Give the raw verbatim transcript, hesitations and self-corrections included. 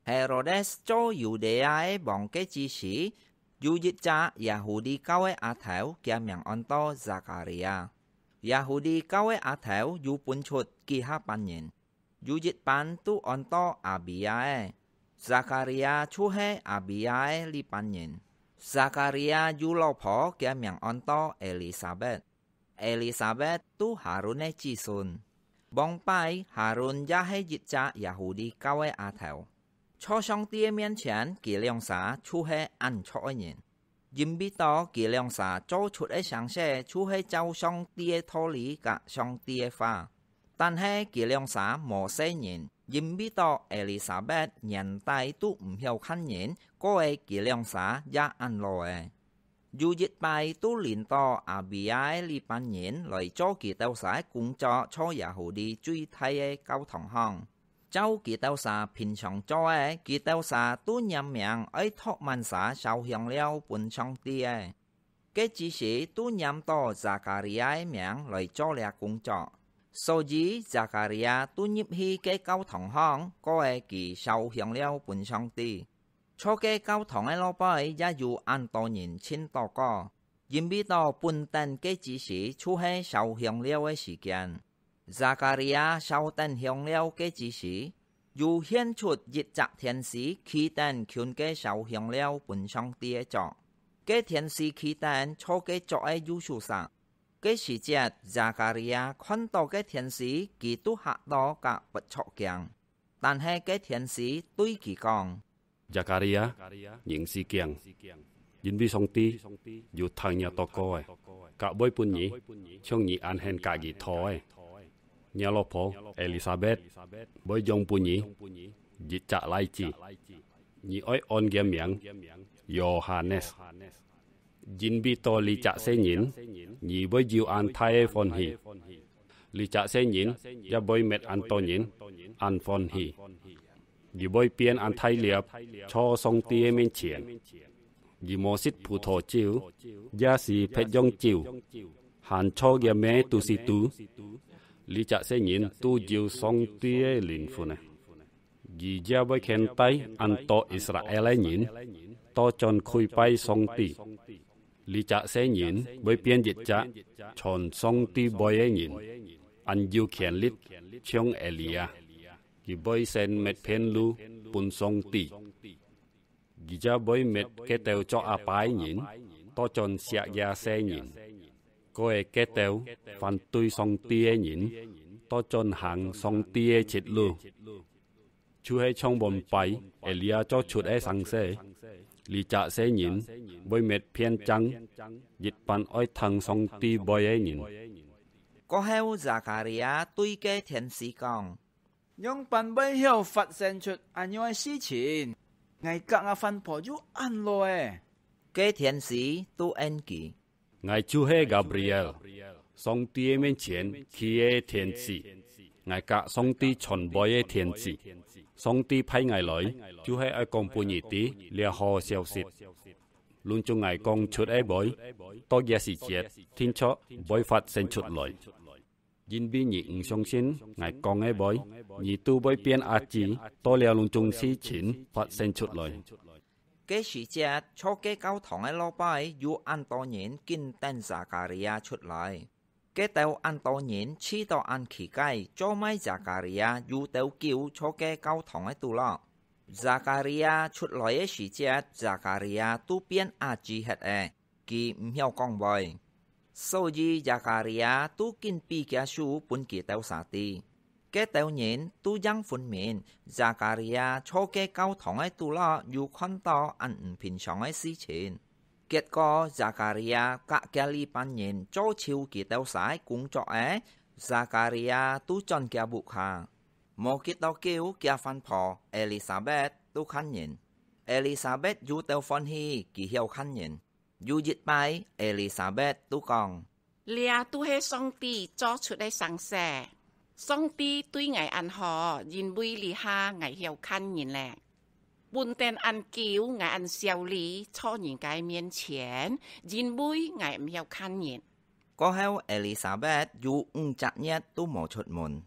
Herodes做猶太个王个之時，有一隻耶戶利教个阿頭，厥名安到Zakaria。耶戶利教个阿頭有分出幾下班人，有一班都安到Abia个，Zakaria就係Abia个這班人。Zakaria有老婆，厥名安到Elisabet。 Elisabet都Harun个子孫。往擺Harun也係一隻耶戶利教个阿頭。在上帝个面前，佢兩儕就係恁著个人，因為到佢兩儕做出个成事，就係照上帝个道理佮上帝个話。但係佢兩儕無細人，因為到Elisabet年代都毋曉看人，過个佢兩儕也恁老了。 有一擺都輪到Abia个這班人來做佢兜儕个工作，在耶戶利最大个教堂項。照佢兜儕平常做个，佢兜儕都拈名愛擇滿儕燒香料分上帝个。該之時都拈到Zakaria个名來做這工作，所以Zakaria都入去該教堂項，過个佢燒香料分上帝。 在該教堂个路背也有恁多人尋到過，因為到本等該之時就係燒香料个時間。Zakaria燒等香料該之時，又現出一隻天使企等近該燒香料分上帝个桌。該天使企等在該桌个右手析。該時節，Zakaria看到該天使，佢都嚇到甲發著驚。但係該天使對佢講： Zakaria，毋使驚，因為上帝有聽若禱告个，甲會分你，像你恁肯甲佢討个。若老婆Elisabet會養分你一隻倈子，你愛安厥名Yohanes。因為到這隻細人，你會有恁大个歡喜。這隻細人也會搣恁多人恁歡喜。 佢會變恁大粒，在上帝个面前。佢無食葡萄酒，也係別樣酒，還在厥姆肚屎肚。這隻細人都有上帝个靈魂啊！佢也會牽帶恁多Israel个人倒轉跪拜上帝。這隻細人會變一隻傳上帝話个人，恁有權力，像Elia。 佢會先搣片路分上帝。佢也會搣該兜做阿爸个人倒轉惜厥細人，過个該兜反對上帝个人倒轉行上帝个直路。就係像往擺Elia做出个成事，這隻細人會搣片正一班愛聽上帝話个人。過後，Zakaria對該天使講： 仰般會曉發生出恁樣个事情？𠊎甲吾番婆又恁老了。該天使都應佢：𠊎就係Gabriel，上帝个面前企个天使。𠊎甲上帝傳話个天使。上帝派𠊎來，就係愛講分你知這好消息。攏總𠊎講出个話，到這時節，定著會發生出來。 因為你毋相信𠊎講个話，你都會變阿姊，到這攏總事情發生出來。該時節，在該教堂个路背有恁多人緊等Zakaria出來。該兜恁多人試著恁奇怪，做麼个Zakaria有兜尞在該教堂个肚落。Zakaria出來个時節，Zakaria都變阿姊忒了。 佢毋曉講話。所以Zakaria都緊比厥手分佢兜儕知。該兜人都應分明，Zakaria在該教堂个肚落有看著恁毋平常个事情。結果Zakaria甲厥這班人做就佢兜儕个工作了，Zakaria都轉厥屋下。無幾多久，厥番婆Elisabet都看人。Elisabet有兜歡喜，佢曉看人。 有一擺，Elisabet都講：這都係上帝做出个成事。上帝對𠊎恁好，因為這下𠊎曉看人了。本等恁久，𠊎恁少理在人家面前，因為𠊎毋曉看人。過後，Elisabet有五隻月都無出門。